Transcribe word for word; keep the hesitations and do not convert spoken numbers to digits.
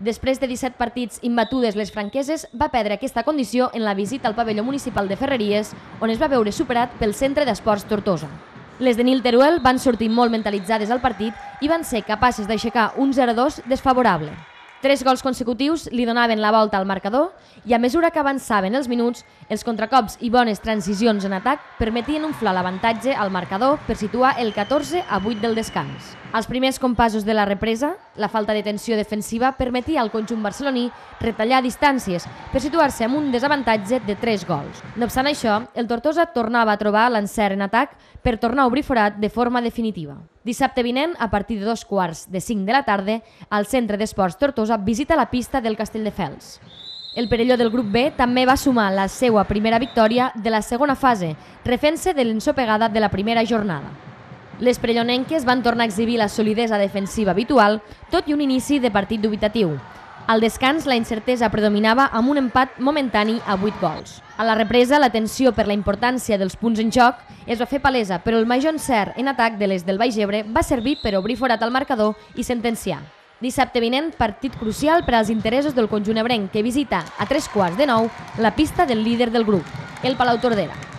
Després de disset partits imbatudes, les franqueses va perdre aquesta condició en la visita al pavelló municipal de Ferreries, on es va veure superat pel Centre d'Esports Tortosa. Les de Nil Teruel van sortir molt mentalitzades al partit i van ser capaces d'aixecar un zero a dos desfavorable. Tres gols consecutius li donaven la volta al marcador i a mesura que avançaven els minuts, els contracops i bones transicions en atac permetien inflar l'avantatge al marcador per situar el catorze a vuit del descans. Als primers compassos de la represa, la falta de tensió defensiva permetia al conjunt barceloní retallar distàncies per situar-se amb un desavantatge de tres gols. No obstant això, el Tortosa tornava a trobar l'encert en atac per tornar a obrir forat de forma definitiva. Dissabte vinent, a partir de dos quarts de cinc de la tarda, el Centre d'Esports Tortosa visita la pista del Castelldefels. El Perelló del grup B també va sumar la seva primera victòria de la segona fase, refent-se de l'ensopegada de la primera jornada. Les perellonenques van tornar a exhibir la solidesa defensiva habitual, tot i un inici de partit dubitatiu. Al descans, la incertesa predominava amb un empat momentani a vuit gols. A la represa, la tensió per la importància dels punts en joc es va fer palesa, però el major encert en atac de les del Baix Ebre va servir per obrir forat al marcador i sentenciar. Dissabte vinent, partit crucial per als interessos del conjunt ebrenc, que visita a tres quarts de nou la pista del líder del grup, el Palau Tordera.